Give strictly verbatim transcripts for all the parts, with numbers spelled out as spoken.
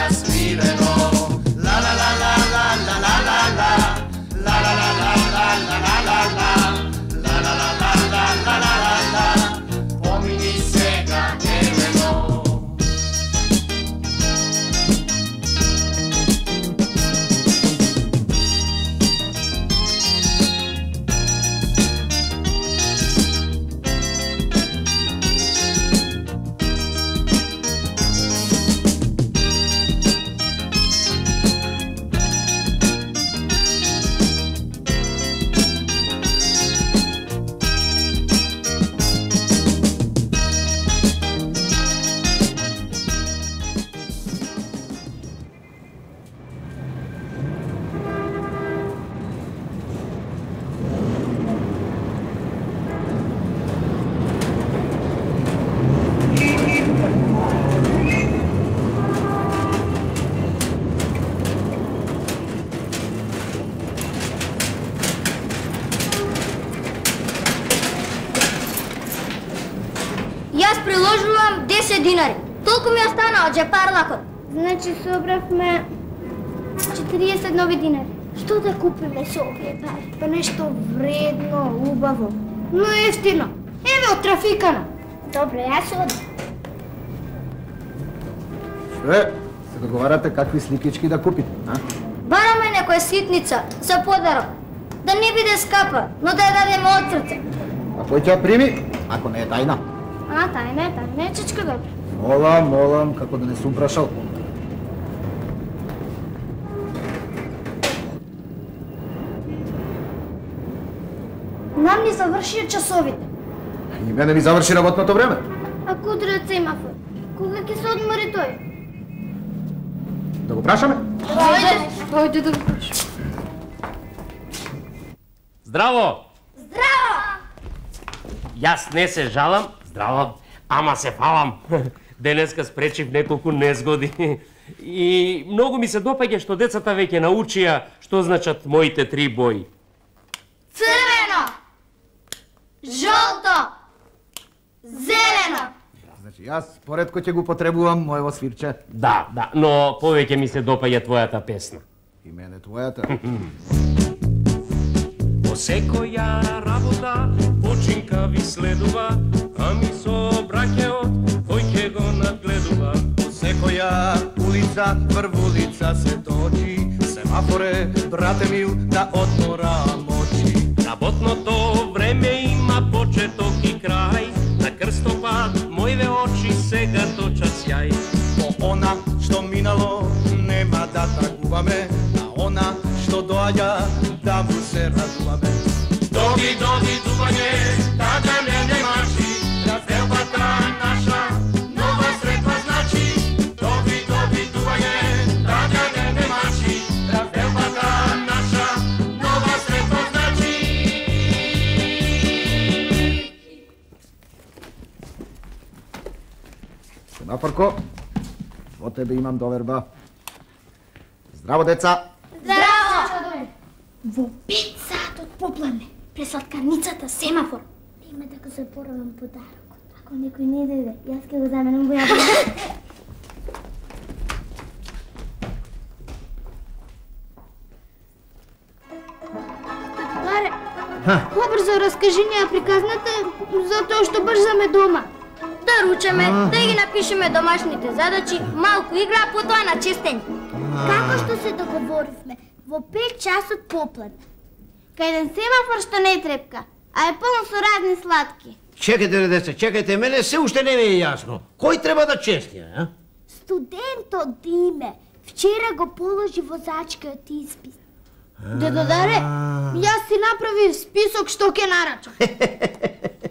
свирено. La la la la la la la la la. La la la la la la la la la. La la la la la la la la la. Помини сега немено. Јас приложувам десет динари. Толку ми остана од джепарлакот. Значи собравме четириесет нови динари. Што да купиме со овие пари? Па нешто вредно, убаво, но ефтино. Еве од трафикана. Добро, јас одам. Што е? Се договарате какви сликички да купите, а? Бараме некоја ситница за подарок. Да не биде скапа, но да ја дадеме од срце. А кој ќе ја прими, ако не е тајна? А, тајна е, тајна е, чичка добро. Молам, молам, како да не сум прашал. Нам ни завршија часовите. И мене ми заврши работното време. А кутре од семафор? Кога ќе се одмори тој? Да го прашаме? Ајде, ајде да го прашаме. Здраво! Здраво! Јас не се жалам, здраво, ама се фалам. Денеска спречив неколку незгоди. И многу ми се допаѓа што децата веќе научија што значат моите три бои. Црвено, жолто, зелено. Значи, јас поредко ќе го потребувам моево свирче. Да, да, но повеќе ми се допаѓа твојата песна. И мене твојата. По секоја работа починка ви следува, ами со браќеот кој ќе го надгледува. По секоја улица, врвулица се точи, семафоре, брате мил, да одмора мочи. Работното време има почеток и крај, на крстопат мојве очи сега точат сјај. По она што минало нема да трагуваме, а она што доаѓа да му се радуваме. Доги, доги, дување, тага не не мачи, разделбата наша, нова средба значи. Доги, доги, дување, тага не не мачи, разделбата наша, нова средба значи. Семафорко, во тебе имам доверба. Здраво, деца! Здраво! Во пет сатот попладне, пресладкарницата семафор. Нема да го запоравам подарокот. Ако некој не дојде, јас ќе го заменам во јаболка. Таре, побрзо раскажи ни ја приказната за тоа што брзаме дома. Да ручаме, да ги напишеме домашните задачи, малку игра, потоа на чистење. Како што се договоривме, во пет часот попладне. Кај еден семафор што не трепка, а е полно со разни сладки. Чекайте, деца, чекайте, мене се уште не ми е јасно. Кој треба да чести, а? Студентот Диме вчера го положи возачкиот испит. Дедо Даре, јас си направив список што ќе нарачам.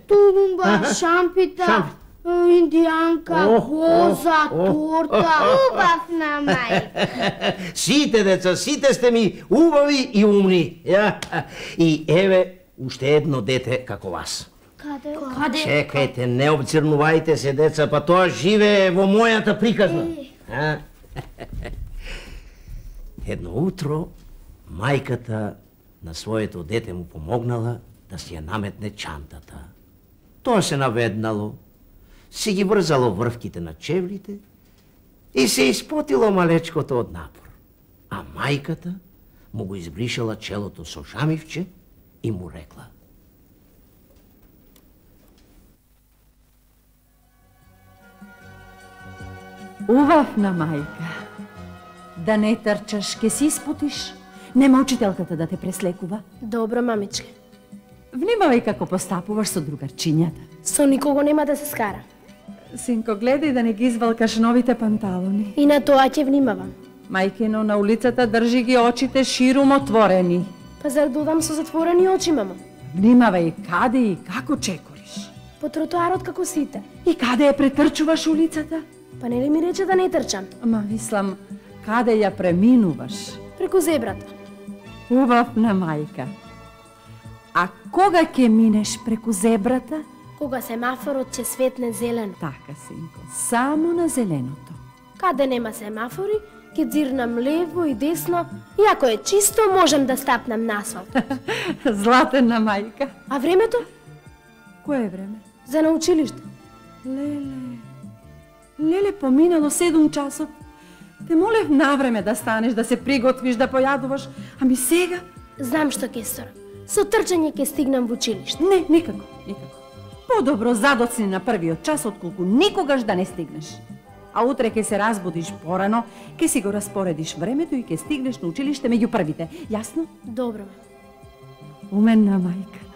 Тулумба, шампита, индијанка, коза, торта. Убав на мај. Сите деца, сите сте ми убави и умни. Ја? И еве уште едно дете како вас. Каде? Каде? Чекајте, не обцрнувајте се, деца, па тоа живее во мојата приказна. А? Едно утро, мајката на своето дете му помогнала да си ја наметне чантата. Тоа се наведнало, си ги врзало врвките на чевлите и се испотило малечкото од напор. А мајката му го избришала челото со жамивче и му рекла: Убавна мајка, да не трчаш, ке си испутиш. Нема учителката да те преслекува. Добро, мамичке. Внимавај како постапуваш со другарчињата. Со никого нема да се скара. Синко, гледај да не ги извалкаш новите панталони. И на тоа ќе внимавам. Мајкино, на улицата држи ги очите ширум отворени. Па зар додам со затворени очи, мама? Внимавај каде и како чекориш. По тротоарот како сите. И каде ја претрчуваш улицата? Па нели ми рече да не трчам? Ама мислам, каде ја преминуваш? Преку зебрата. Убавна мајка. А кога ќе минеш преку зебрата? Кога семафорот ќе светне зелено. Така, синко, само на зеленото. Каде нема семафори, ќе дзирнам лево и десно, и ако е чисто, можам да стапнам на асфалт. Златена мајка. А времето? Кое е време? За на училиште. Леле, леле, поминало седум часот. Те молев навреме да станеш, да се приготвиш, да појадуваш, ами сега? Знам што ќе сторам. Со трчање ќе стигнам во училиште. Не, никако, никако. Подобро задоцни на првиот час, отколку никогаш да не стигнеш. А утре ќе се разбудиш порано, ќе си го распоредиш времето и ќе стигнеш на училиште меѓу првите. Јасно? Добро. Уменна мајка.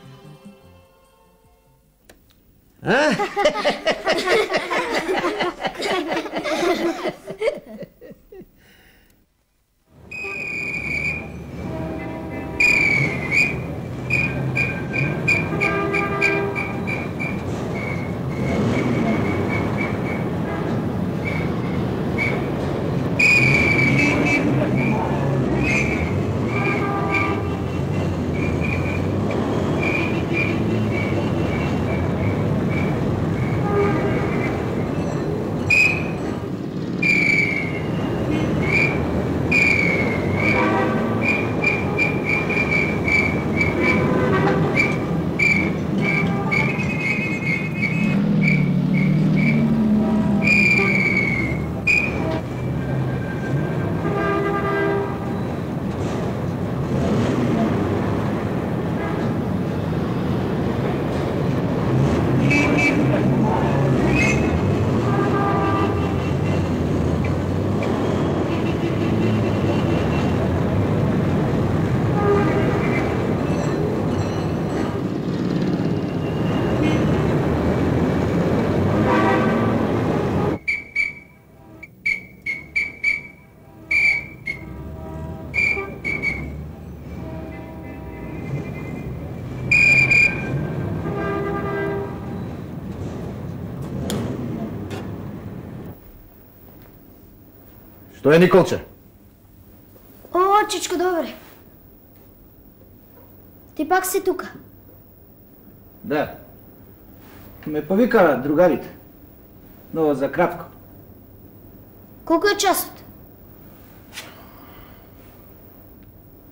Што е, Николче? О, чичко, добре. Ти пак си тука? Да. Ме повика другарите. Но за кратко. Колку е часот?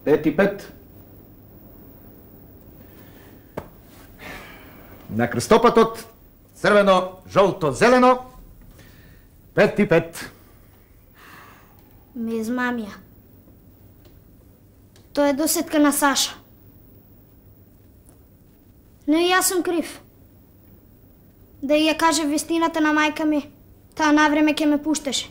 Пет и пет. На крстопатот црвено, жолто, зелено. Пет и пет. Ме измамија. Тоа е досетка на Саша. Но и јас сум крив. Да ја кажа вистината на мајка ми, таа навреме ќе ме пуштеше.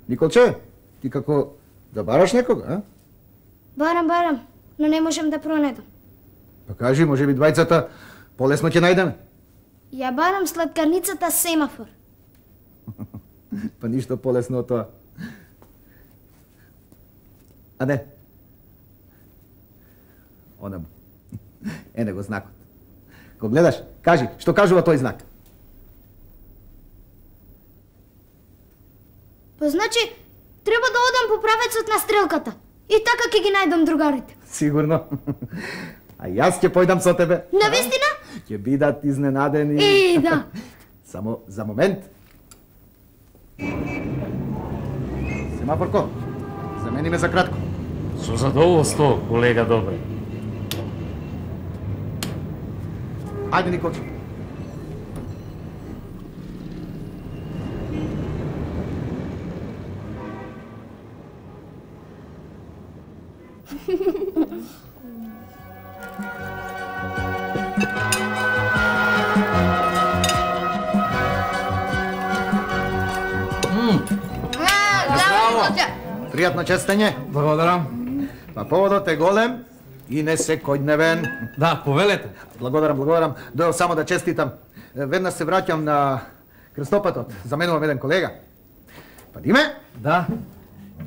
Николче, ти како да бараш некога, а? Барам, барам, но не можем да пронедам. Па кажи, може би двајцата полесно ќе најдеме. Ја барам сладкарницата семафор. Па ништо полесно од тоа. А не. Онаму. Е, него знакот. Ко гледаш, кажи, што кажува тој знак? Па значи, треба да одам по правецот на стрелката. И така ќе ги најдам другарите. Сигурно. А јас ќе појдам со тебе. Навистина? Ќе бидат изненадени. Е, да. Само за момент. Семафорко, замени ме за кратко. Со задоволство, колега Добре. Ајде, Николче. Пријатно честење. Благодарам. Па поводот е голем и не секојдневен. Да, повелете. Благодарам, благодарам. Дојав само да честитам. Веднаш се враќам на крстопатот. Заменувам еден колега. Па Диме? Да.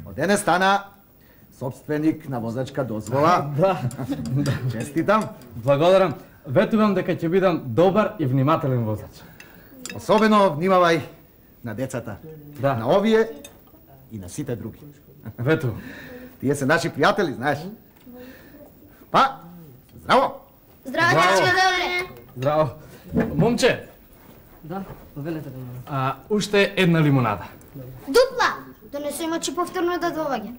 Од денес стана собственик на возачка дозвола. Да. Честитам. Благодарам. Ветувам дека ќе бидам добар и внимателен возач. Особено внимавај на децата. Да. На овие и на сите други. Ветувам. Тие се наши пријатели, знаеш. Па, здраво! Здраво, Здраво. дечко, добре. Здраво. Момче, Да, повелете да. а, уште една лимунада. Дупла! Донесе мачи повторно да доваѓа.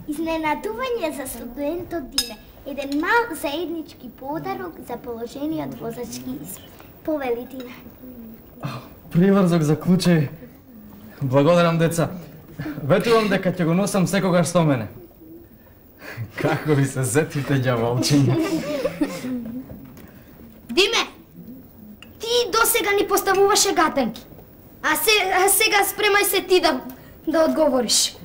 Изненадување за студентот Диме. Еден мал заеднички подарок за положениот возачки испит. Повели Диме. Приврзок за клучеј. Благодарам, деца. Ветувам дека ќе го носам секогаш со мене. Како ви се сетите, ѓаволчиња? Диме! Ти досега ни поставуваше гатанки. А, се, а сега спремај се ти да, да одговориш.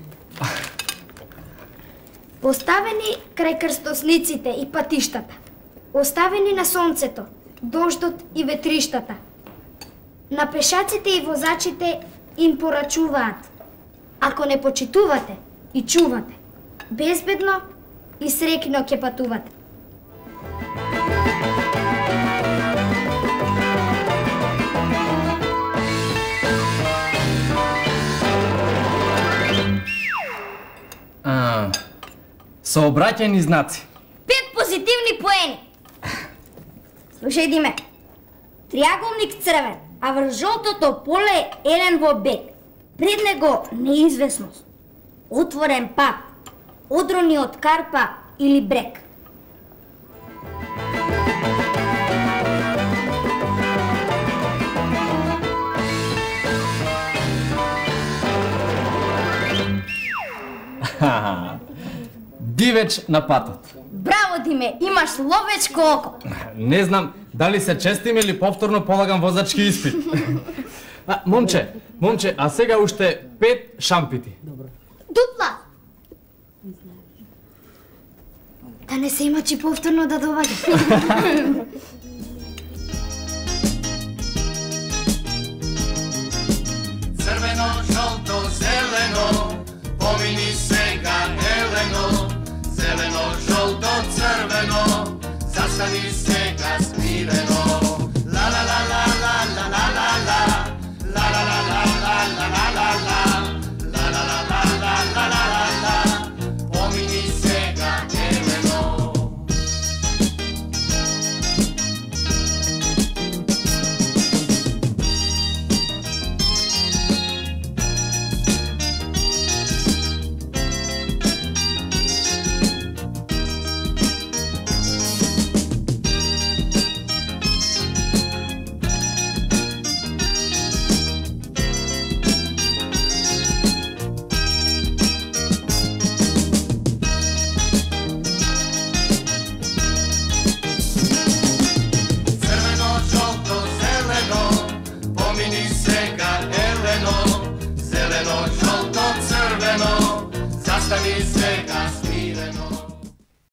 Поставени крај крстосниците и патиштата. Оставени на сонцето, дождот и ветриштата. На пешаците и возачите им порачуваат. Ако не почитувате и чувате, безбедно и среќно ќе патувате. А, сообраќајни знаци. Пет позитивни поени. Слушај, Диме. Триаголник црвен, а врз жолтото поле елен во бег. Пред него неизвестност. Отворен пат. Одрони од карпа или брег. Дивеч на патот. Браво, Диме, имаш ловечко око. Не знам дали се честим или повторно полагам возачки испит. А, момче, момче, а сега уште пет шампити. Дупла! Да не се имачи повторно да доваѓа. Црвено, жолто, зелено, помини сега Елено. Зелено, жолто, црвено, застани